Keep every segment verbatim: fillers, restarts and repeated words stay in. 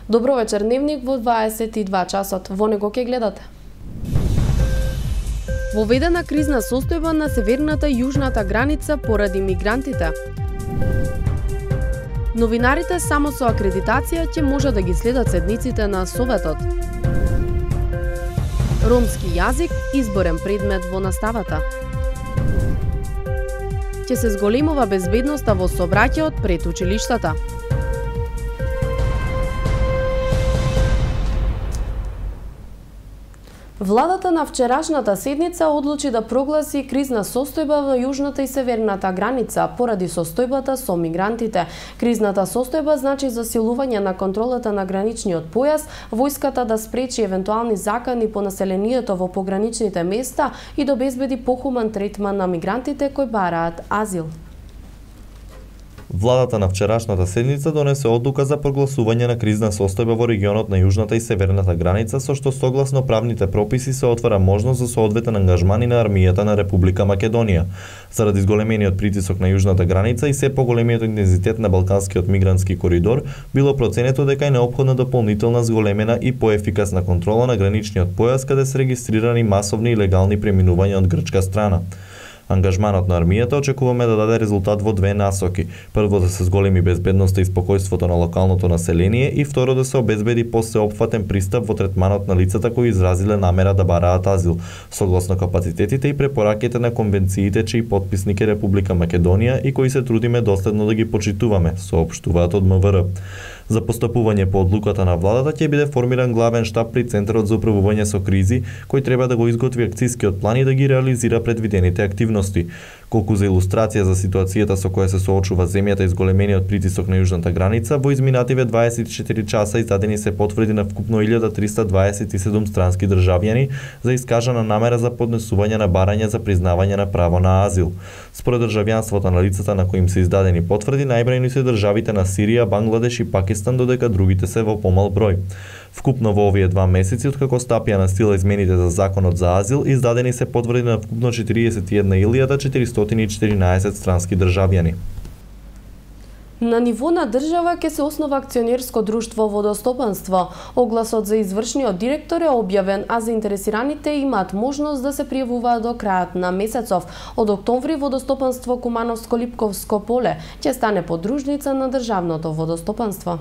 Добро вечер, дневник во дваесет и два часот. Во него ќе гледате. Воведена кризна состојба на северната и јужната граница поради мигрантите. Новинарите само со акредитација ќе може да ги следат седниците на Советот. Ромски јазик изборен предмет во наставата. Ќе се зголемува безбедноста во сообраќајот пред училиштата. Владата на вчерашната седница одлучи да прогласи кризна состојба во јужната и северната граница поради состојбата со мигрантите. Кризната состојба значи засилување на контролата на граничниот појас, војската да спречи евентуални закани по населението во пограничните места и да обезбеди похуман третман на мигрантите кои бараат азил. Владата на вчерашната седница донесе одлука за прогласување на кризна состојба во регионот на јужната и северната граница, со што согласно правните прописи се отвара можност за соодветен ангажман и на армијата на Република Македонија. Заради зголемениот притисок на јужната граница и се поголемиот интензитет на балканскиот мигрантски коридор, било проценето дека е неопходна дополнителна зголемена и поефикасна контрола на граничниот појас каде се регистрирани масовни и легални преминувања од грчка страна. Ангажманот на армијата очекуваме да даде резултат во две насоки. Прво, да се зголеми безбедноста и спокојството на локалното население и второ, да се обезбеди посеопфатен пристап во третманот на лицата кои изразиле намера да бараат азил, согласно капацитетите и препораките на конвенциите чиј потписник е Република Македонија и кои се трудиме доследно да ги почитуваме, соопштуваат од МВР. За постапување по одлуката на владата ќе биде формиран главен штаб при Центарот за управување со кризи, кој треба да го изготви акцискиот план и да ги реализира предвидените активности. Колку за илустрација за ситуацијата со која се соочува земјата и зголемениот притисок на јужната граница, во изминативе дваесет и четири часа издадени се потврди на вкупно илјада триста дваесет и седум странски државјани за искажана намера за поднесување на барање за признавање на право на азил. Според државјанството на лицата на кои им се издадени потврди, најбројни се државите на Сирија, Бангладеш и Пакистан, додека другите се во помал број. Вкупно во овие два месеци, откако стапија на сила измените за законот за азил, издадени се потврди на вкупно четириесет и една илјада четиристотини и четиринаесет странски државјани. На ниво на држава ќе се основа акционерско друштво водостопанство. Огласот за извршниот директор е објавен, а заинтересираните имаат можност да се пријавуваат до крајот на месецов. Од октомври водостопанство Кумановско-Липковско поле ќе стане подружница на државното водостопанство.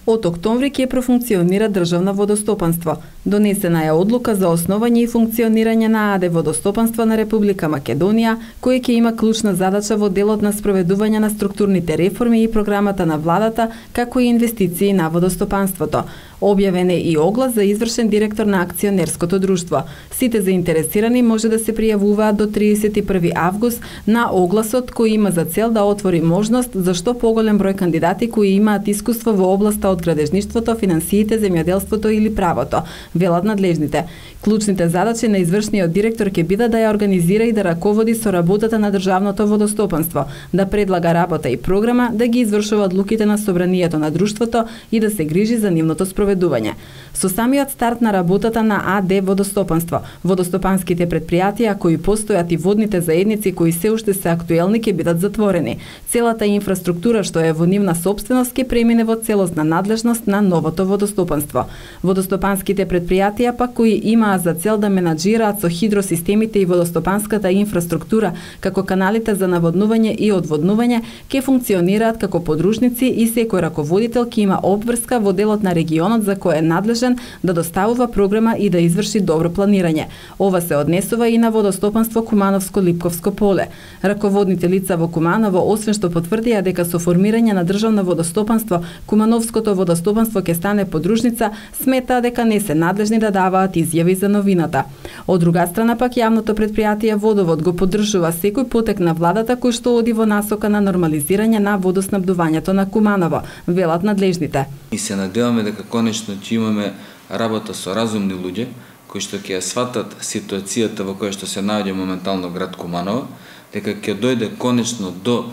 Од октомври ќе профункционира државно водостопанство. Донесена е одлука за основање и функционирање на АД Водостопанство на Република Македонија, кој ќе има клучна задача во делот на спроведување на структурните реформи и програмата на владата, како и инвестиции на водостопанството. Објавен е и оглас за извршен директор на акционерското друштво. Сите заинтересирани може да се пријавуваат до триесет и први август на огласот кој има за цел да отвори можност за што поголем број кандидати кои имаат искуство во областа од градежништвото, финансиите, земјоделството или правото, велат надлежните. Клучните задачи на извршниот директор ќе бидат да ја организира и да раководи со работата на државното водостопанство, да предлага работа и програма, да ги извршува одлуките на собранието на друштвото и да се грижи за нивното спроведување. Со самиот старт на работата на АД Водостопанство, водостопанските предпријатија кои постојат и водните заедници кои се уште се актуелни ќе бидат затворени. Целата инфраструктура што е во нивна сопственост ќе премине во целосна надлежност на новото водостопанство. Водостопанските предпријатија пак кои имаат за цел да менаџираат со хидросистемите и водостопанската инфраструктура, како каналите за наводнување и одводнување, ќе функционираат како подружници и секој раководител ќе има обврска во делот на регионот за кој е надлежен да доставува програма и да изврши добро планирање. Ова се однесува и на водостопанство Кумановско-Липковско поле. Раководните лица во Куманово, освен што потврдија дека со формирање на државно водостопанство Кумановското водостопанство ќе стане подружница, сметаа дека не се надлежни да даваат изјави за новината. Од друга страна пак јавното предпријатие Водовод го поддржува секој потек на владата кој што оди во насока на нормализирање на водоснабдувањето на Куманово, велат надлежните. И се надеваме дека конечно ќе имаме работа со разумни луѓе кои што ќе ја сватат ситуацијата во која што се наоѓа моментално град Куманово, дека ќе дојде конечно до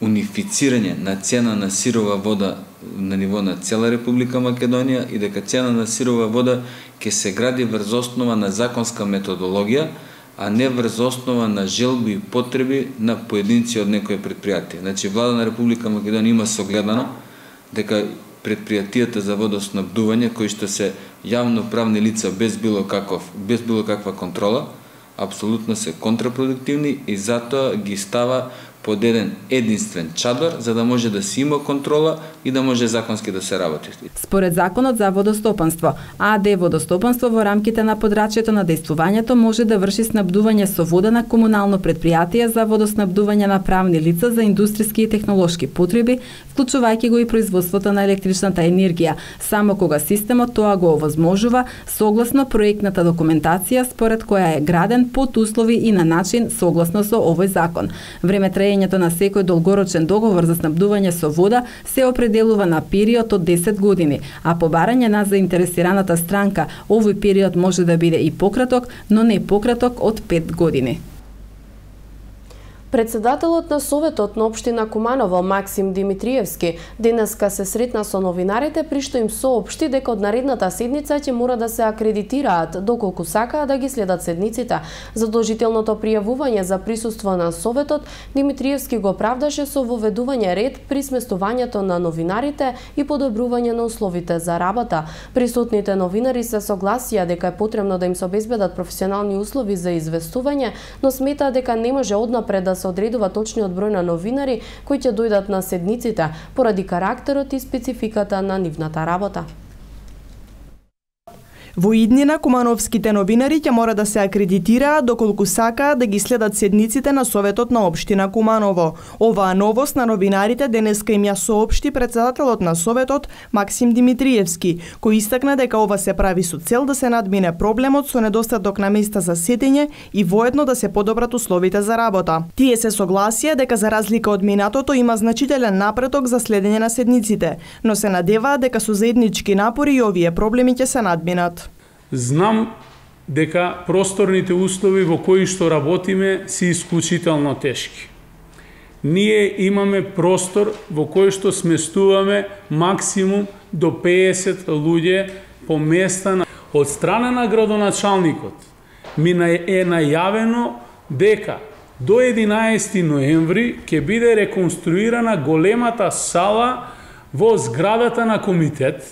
унифицирање на цена на сирова вода на ниво на цела Република Македонија и дека цена на сирова вода ќе се гради врз основа на законска методологија, а не врз основа на желби и потреби на поединци од некои предпријатија. Значи, влада на Република Македонија има согледано дека предпријатијата за водоснабдување, кои што се јавно правни лица без било каков, без било каква контрола, апсолутно се контрапродуктивни и затоа ги става под еден единствен чадор, за да може да си има контрола и да може законски да се работи. Според Законот за водостопанство, АД Водостопанство во рамките на подрачјето на дејствувањето може да врши снабдување со вода на комунално предпријатие за водоснабдување на правни лица за индустријски и технолошки потреби, вклучувајќи го и производството на електричната енергија, само кога системот тоа го овозможува согласно проектната документација според која е граден под услови и на начин согласно со овој закон. Време траењето на секој долгорочен договор за снабдување со вода се определува на период од десет години, а по барање на заинтересираната странка, овој период може да биде и пократок, но не пократок од пет години. Председателот на Советот на општина Куманово Максим Димитриевски денеска се сретна со новинарите, при што им соопшти дека од наредната седница ќе мора да се акредитираат доколку сакаат да ги следат седниците. Задолжителното пријавување за присуство на Советот Димитриевски го правдаше со воведување ред при сместувањето на новинарите и подобрување на условите за работа. Присутните новинари се согласија дека е потребно да им се обезбедат професионални услови за известување, но сметаат дека не може однапред да се одредува точниот број на новинари кои ќе дојдат на седниците поради карактерот и спецификата на нивната работа. Во иднина кумановските новинари ќе мора да се акредитираат доколку сакаат да ги следат седниците на Советот на општина Куманово. Оваа новост на новинарите денеска им ја соопшти председателот на Советот Максим Димитриевски, кој истакна дека ова се прави со цел да се надмине проблемот со недостаток на места за седење и воедно да се подобрат условите за работа. Тие се согласија дека за разлика од минатото има значителен напредок за следење на седниците, но се надеваат дека со заеднички напори и овие проблеми ќе се надминат. Знам дека просторните услови во кои што работиме се исклучително тешки. Ние имаме простор во кој што сместуваме максимум до педесет луѓе по места. Од страна на градоначалникот ми е најавено дека до единаесети ноември ќе биде реконструирана големата сала во зградата на комитет,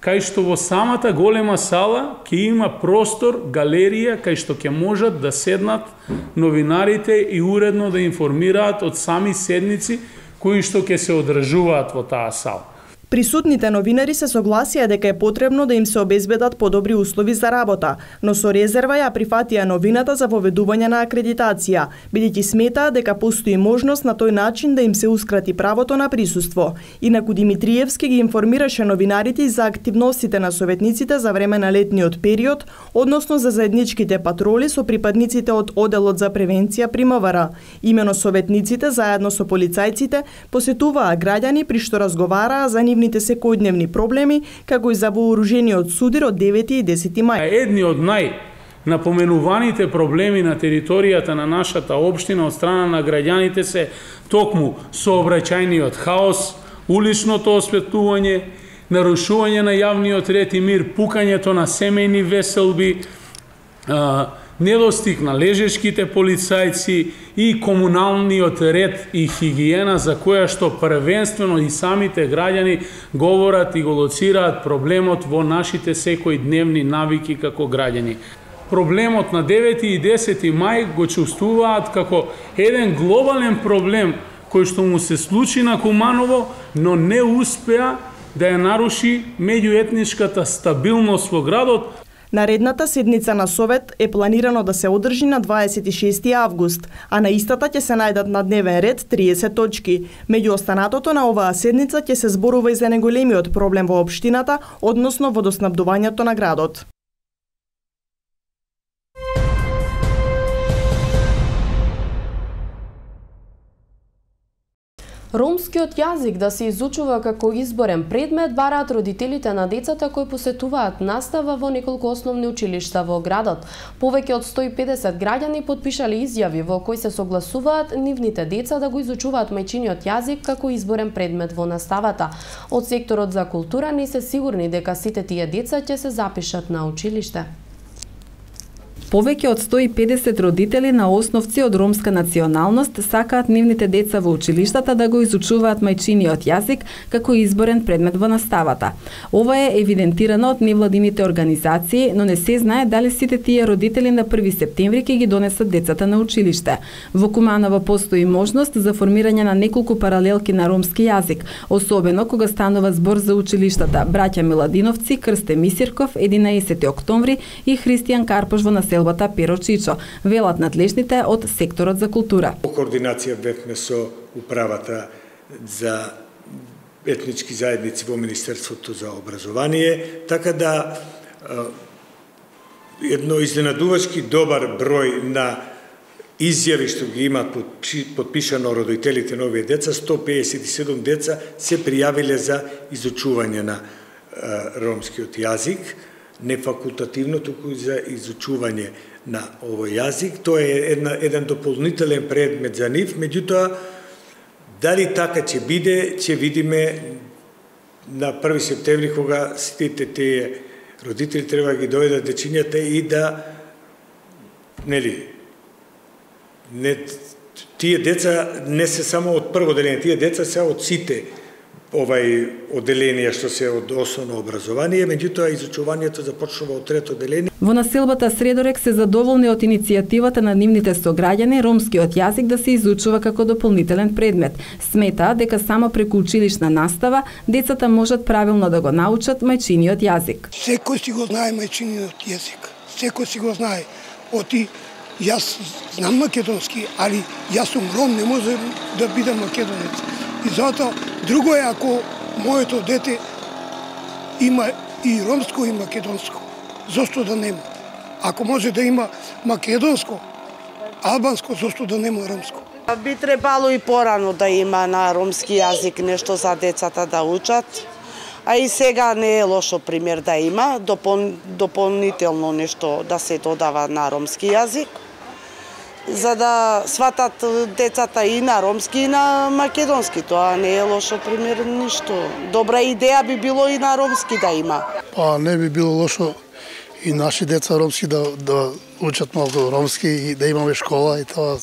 кај што во самата голема сала ќе има простор, галерија, кај што ќе можат да седнат новинарите и уредно да информираат од сами седници кои што ќе се одржуваат во таа сала. Присутните новинари се согласија дека е потребно да им се обезбедат подобри услови за работа, но со резерва ја прифатија новината за воведување на акредитација, бидејќи сметаа дека постои можност на тој начин да им се ускрати правото на присуство. Инаку Димитриевски ги информираше новинарите и за активностите на советниците за време на летниот период, односно за заедничките патроли со припадниците од Оделот за превенција при МВР. Имено советниците заедно со полицајците посетуваа граѓани при што разговараа за нивните секојдневни проблеми, како и за вооружениот судир од девети и десети мај. Едни од најнапоменуваните проблеми на територијата на нашата општина од страна на граѓаните се токму сообраќајниот хаос, уличното осветлување, нарушување на јавниот ред и мир, пукањето на семејни веселби, недостиг на лежешките полицајци и комуналниот ред и хигиена за која што првенствено и самите граѓани говорат и го лоцираат проблемот во нашите секојдневни навики како граѓани. Проблемот на девети и десети мај го чувствуваат како еден глобален проблем кој што му се случи на Куманово, но не успеа да ја наруши меѓуетничката стабилност во градот. Наредната седница на Совет е планирано да се одржи на дваесет и шести август, а на истата ќе се најдат на дневен ред триесет точки. Меѓу останатото на оваа седница ќе се зборува и за најголемиот проблем во општината, односно водоснабдувањето на градот. Ромскиот јазик да се изучува како изборен предмет бараат родителите на децата кои посетуваат настава во неколку основни училишта во градот. Повеќе од сто и педесет граѓани потпишале изјави во кои се согласуваат нивните деца да го изучуваат мајчиниот јазик како изборен предмет во наставата. Од секторот за култура не се сигурни дека сите тие деца ќе се запишат на училиште. Повеќе од сто и педесет родители на основци од ромска националност сакаат нивните деца во училиштата да го изучуваат мајчиниот јазик како изборен предмет во наставата. Ова е евидентирано од невладините организации, но не се знае дали сите тие родители на први септември ќе ги донесат децата на училиште. Во Куманово постои можност за формирање на неколку паралелки на ромски јазик, особено кога станува збор за училиштата Браќа Миладиновци, Крсте Мисирков, единаесети октомври и Христијан Карпош во населбата Перо Чичо, велат надлежните од секторот за култура. Координација бевме со управата за етнички заедници во Министерството за образование, така да едно изненадувачки добар број на изјави што ги имаат подпишано родителите на овие деца, сто педесет и седум деца се пријавиле за изучување на ромскиот јазик, не факултативно, туку и за изучување на овој јазик. Тоа е една, еден дополнителен предмет за нив, меѓутоа, дали така ќе биде, ќе видиме на први септември, кога сите тие родители треба да ги дојдат дечињата и да, нели, не, тие деца не се само од прво деление, тие деца се од сите овај одделенија што се од основно образование, меѓутоа изучувањето започнува од трето одделение. Во населбата Средорек се задоволни од иницијативата на нивните сограѓани ромскиот јазик да се изучува како дополнителен предмет. Сметаа дека само преку училишна настава децата можат правилно да го научат мајчиниот јазик. Секој си го знае мајчиниот јазик. Секој си го знае. Оти јас знам македонски, али јас сум ром, не може да бидам македонец. И затоа друго е ако моето дете има и ромско и македонско. Зошто да нема? Ако може да има македонско, албанско, зошто да нема ромско? Би требало и порано да има на ромски јазик нешто за децата да учат. А и сега не е лошо пример да има, допол... дополнително нешто да се додава на ромски јазик, за да сватат децата и на ромски и на македонски. Тоа не е лошо пример ништо. Добра идеја би било и на ромски да има. Па не би било лошо и наши деца ромски да, да учат малку ромски и да имаме школа и тоа.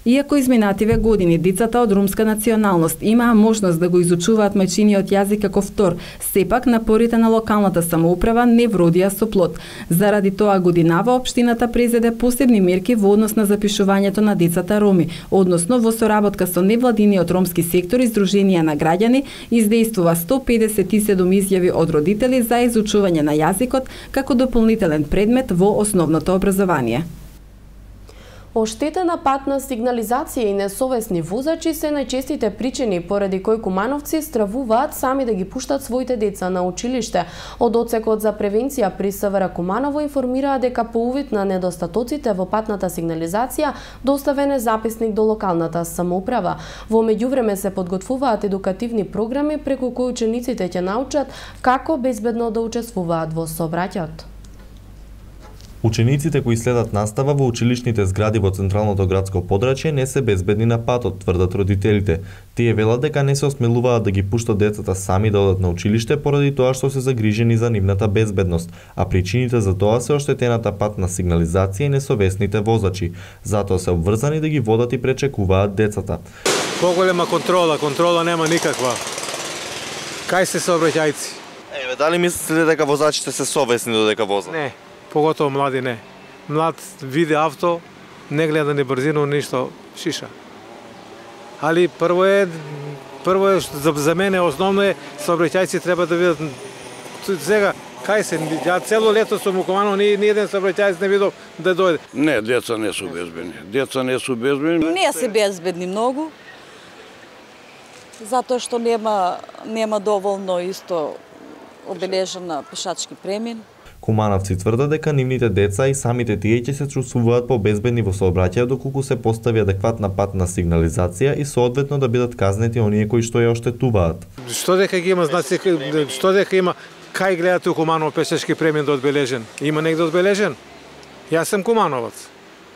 Иако изминативе години децата од ромска националност имаа можност да го изучуваат мајчиниот јазик како втор, сепак напорите на локалната самоуправа не вродија со плод. Заради тоа годинава општината презеде посебни мерки во однос на запишувањето на децата роми, односно во соработка со невладиниот ромски сектор и Сдруженија на граѓани издействува сто педесет и седум изјави од родители за изучување на јазикот како дополнителен предмет во основното образование. Оштетена патна сигнализација и несовесни возачи се најчестите причини поради кои кумановци стравуваат сами да ги пуштат своите деца на училиште. Од одсекот за превенција при СВР Куманово информираа дека по увид на недостатоците во патната сигнализација доставен е записник до локалната самоуправа. Во меѓувреме се подготвуваат едукативни програми преку кои учениците ќе научат како безбедно да учествуваат во сообраќајот. Учениците кои следат настава во училишните згради во централното градско подрачје не се безбедни на патот, тврдат родителите. Тие велат дека не се осмелуваат да ги пуштат децата сами да одат на училиште поради тоа што се загрижени за нивната безбедност, а причините за тоа се оштетената патна сигнализација и несовесните возачи. Затоа се обврзани да ги водат и пречекуваат децата. Поголема контрола, контрола нема никаква. Кај се сообраќајци? Еве, дали мислите дека возачите се совесни додека возат? Не. Поготово млади не. Млад види авто, не гледа ни брзину, ништо, шиша. Али прво е, прво е, за, за мене основно е, сообраќајци треба да видат. Сега, кај се, ја цело лето сум у Куманово, ни, ни еден сообраќајец не видов да дојде. Не, деца не су безбедни. Деца не су безбедни. Не се безбедни многу, затоа што нема, нема доволно исто обележена пешачки премин. Кумановци тврдат дека нивните деца и самите тие ќе се чувствуваат побезбедни во сообраќајот доколку се постави адекватна патна сигнализација и соодветно да бидат казнети оние кои што ја оштетуваат. Што дека ги има знаци, што дека има кај гледате у Куманово пешачки премин да одбележен? Има негде одбележен? Јас сум кумановац.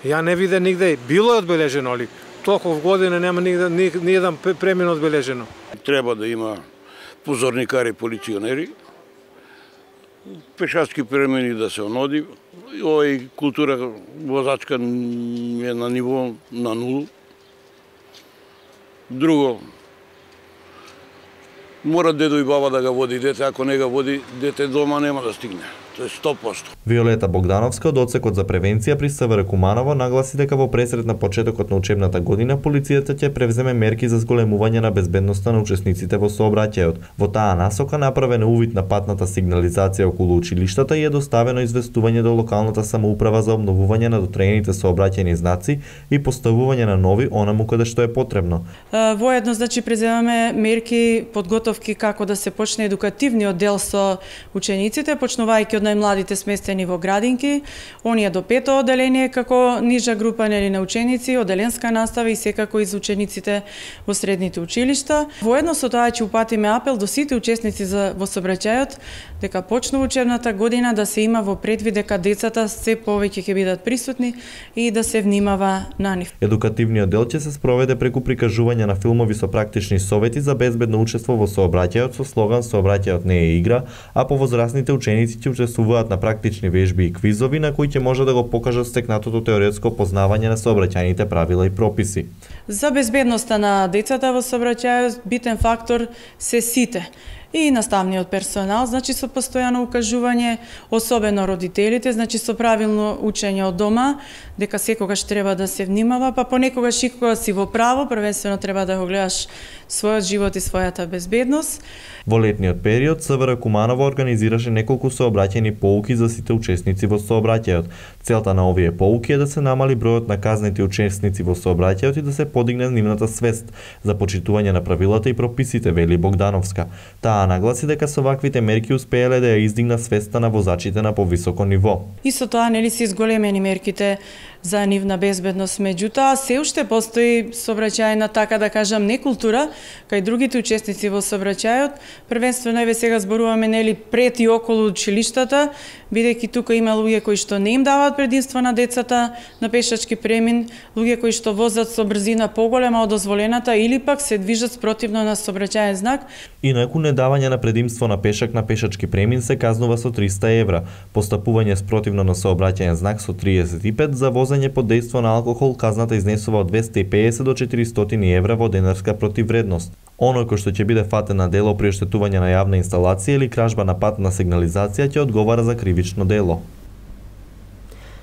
Ја не виде нигде, било е одбележено, али толку години нема нигде ни, ни еден премин одбележено. Треба да има позорникари, полиционери, пешачки премини да се оноди. Овој култура возачка е на ниво на нулу. Друго, мора дедо и баба да ga води дете, ако не ga води дете дома нема да стигне. Тоа е сто проценти. Виолета Богдановска од Одсекот за превенција при СВР Куманово нагласи дека во пресред на почетокот на учебната година полицијата ќе превземе мерки за зголемување на безбедноста на учесниците во сообраќајот. Во таа насока направен увид на патната сигнализација околу училиштата и е доставено известување до локалната самоуправа за обновување на дотреените сообраќајни знаци и поставување на нови онаму каде што е потребно. Воедно, значи, преземаме мерки, подготовки како да се почне едукативниот дел со учениците, почнувајќи од најмладите сместени во градинки, оние до пето оделение како нижа група нели на ученици, оделенска настава и секако и за учениците во средните училишта. Воедно со тоа ќе упатиме апел до сите учесници за во сообраќајот дека почнува учебната година да се има во предвид дека децата се повеќе ќе бидат присутни и да се внимава на нив. Едукативниот дел ќе се спроведе преку прикажување на филмови со практични совети за безбедно учество во сообраќајот со слоган "Сообраќајот не е игра", а повозрасните ученици ќе учествуваат на практични вежби и квизови на кои ќе може да го покажат стекнатото теоретско познавање на сообраќајните правила и прописи. За безбедноста на децата во сообраќајот битен фактор се сите. И наставниот персонал, значи со постојано укажување, особено родителите, значи со правилно учење од дома, дека секогаш треба да се внимава, па понекогаш и кога си во право, првенствено треба да го гледаш својот живот и својата безбедност. Во летниот период СВР Куманово организираше неколку сообраќајни поуки за сите учесници во сообраќајот. Целта на овие поуки е да се намали бројот на казнети учесници во сообраќајот и да се подигне нивната свест за почитување на правилата и прописите, вели Богдановска. Таа нагласи дека со ваквите мерки успееле да ја издигнат свеста на возачите на повисоко ниво. И со тоа нели се изголемени мерките за нивна безбедност, меѓутоа се уште постои сообраќајна, така да кажам, некултура кај другите учесници во сообраќајот. Првенствено еве сега зборуваме нели пред и околу училиштата, бидејќи тука има луѓе кои што не им даваат предимство на децата на пешачки премин, луѓе кои што возат со брзина поголема од дозволената или пак се движат спротивно на сообраќајен знак. Инаку недавање на предимство на пешак на пешачки премин се казнува со триста евра, постапување спротивно на сообраќаен знак со триесет и пет, за возење под дејство на алкохол казната изнесува од двесте и педесет до четиристотини евра во денарска противвредност. Оној кој што ќе биде фатен на дело при оштетување на јавна инсталација или кражба на патна сигнализација ќе одговара за кривично дело.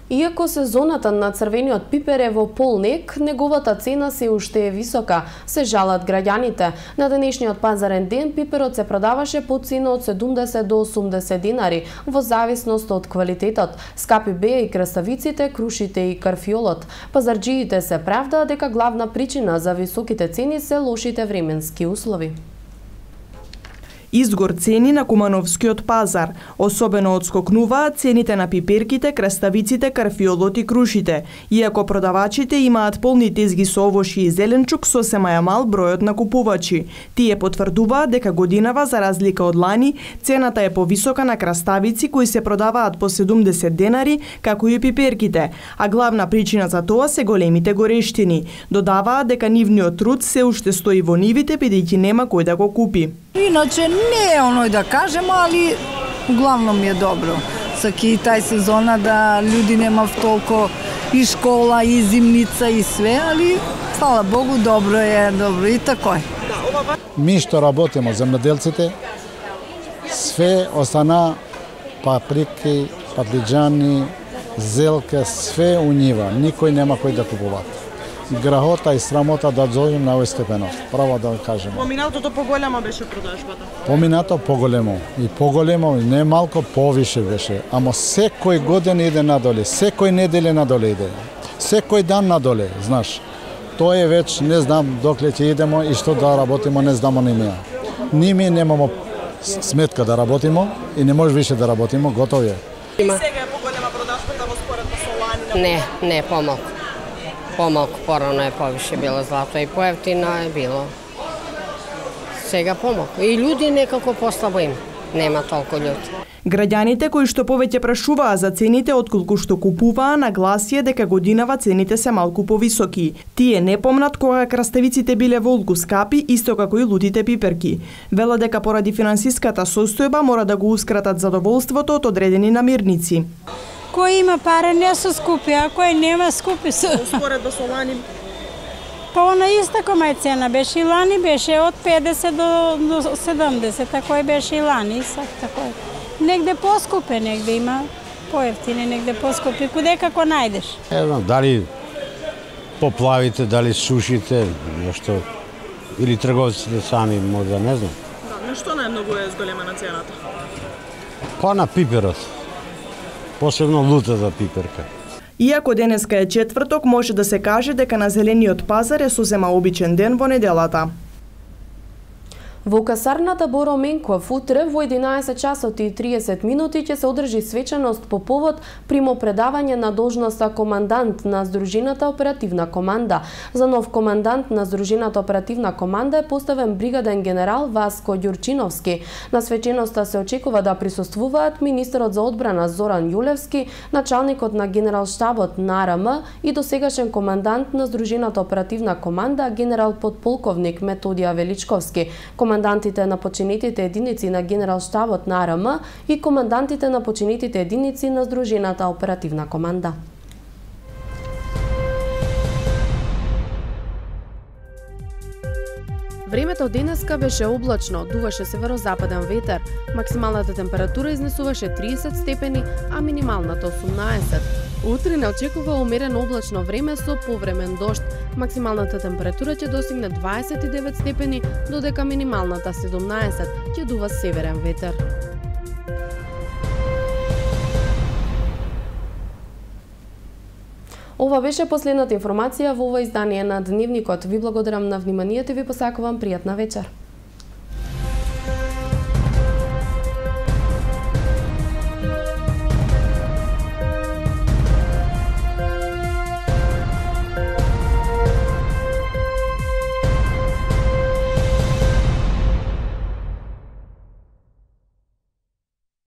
Иако сезоната на црвениот пипер е во полнек, неговата цена се уште е висока, се жалат граѓаните. На денешниот пазарен ден пиперот се продаваше по цена од седумдесет до осумдесет динари, во зависност од квалитетот. Скапи беа и краставиците, крушите и карфиолот. Пазарџиите се правда дека главна причина за високите цени се лошите временски услови. Изгор цени на Кумановскиот пазар. Особено одскокнуваат цените на пиперките, краставиците, карфиолот и крушите. Иако продавачите имаат полни тезги со овошје и зеленчук, сосема е мал бројот на купувачи. Тие потврдуваат дека годинава, за разлика од лани, цената е повисока на краставици кои се продаваат по седумдесет денари, како и пиперките, а главна причина за тоа се големите горештини. Додаваат дека нивниот труд се уште стои во нивите, бидејќи нема кој да го купи. Иначе не е оној да кажем, али главно ми е добро. Саки тај сезона да луѓе немав толку и школа, и зимница, и све, али фала Богу, добро е, добро и тако е. Ми што работиме, земјоделците, све остана паприки, патлиџани, зелка, све у нива, никој нема кој да купува. Грахота и срамота да дојдем на овој степеност, право да кажеме. Поминатото поголема беше продажбата. Поминато поголемо и поголемо и не малку повише беше, ама секој годин иде надоле, секој неделе надоле иде. Секој дан надоле, знаеш. Тоа е веќе не знам докле ќе идемо и што да работиме, не знамо ни ми. Ни ми немамо сметка да работиме и не може више да работиме, готово е. И сега е поголема продажбата во споредба со лани? Не, не помалку. Помалку, порано е повише било злато и поевтино е било. Сега помалку. И луѓе некако послабо им. нема толку луѓе. Граѓаните кои што повеќе прашуваа за цените отколку што купуваа, нагласија дека годинава цените се малку повисоки. Тие не помнат кога краставиците биле волку скапи, исто како и лутите пиперки. Велат дека поради финансиската состојба мора да гоускратат задоволството од одредени намирници. Кој има пари не се скупи, а кој нема скупи се. Споредба со лани? Па она иста кома е цена беше и лани, беше од педесет до, до седумдесет, кој беше и лани, такој. Негде поскупе, негде има поевтине, негде поскупи, куде како најдеш. Не знам, дали поплавите, дали сушите, нешто, или трговците сами, можда, не знам. Да, на што најмногу е зголемена цената? Па на пиперот, посебно лутата пиперка. Иако денеска е четврток, може да се каже дека на зелениот пазар е сосема обичен ден во неделата. Во касарната Боро Менков утре во единаесет часот и триесет минути ќе се одржи свечаност по повод примопредавање на должноста командант на Здружината оперативна команда. За нов командант на Здружината оперативна команда е поставен бригаден генерал Васко Ѓурчиновски. На свеченоста се очекува да присуствуваат министерот за одбрана Зоран Јулевски, началникот на генералштабот на АРМ и досегашен командант на Здружината оперативна команда генерал подполковник Методија Величковски, командантите на починетите единици на генералштабот на АРМ и командантите на починетите единици на Здружената оперативна команда. Времето денеска беше облачно, дуваше северозападен ветер. Максималната температура изнесуваше триесет степени, а минималната осумнаесет. Утре не очекува умерено облачно време со повремен дожд. Максималната температура ќе достигне дваесет и девет степени, додека минималната седумнаесет, ќе дува северен ветер. Ова беше последната информација во ова издание на Дневникот. Ви благодарам на вниманието и ви посакувам пријатна вечер.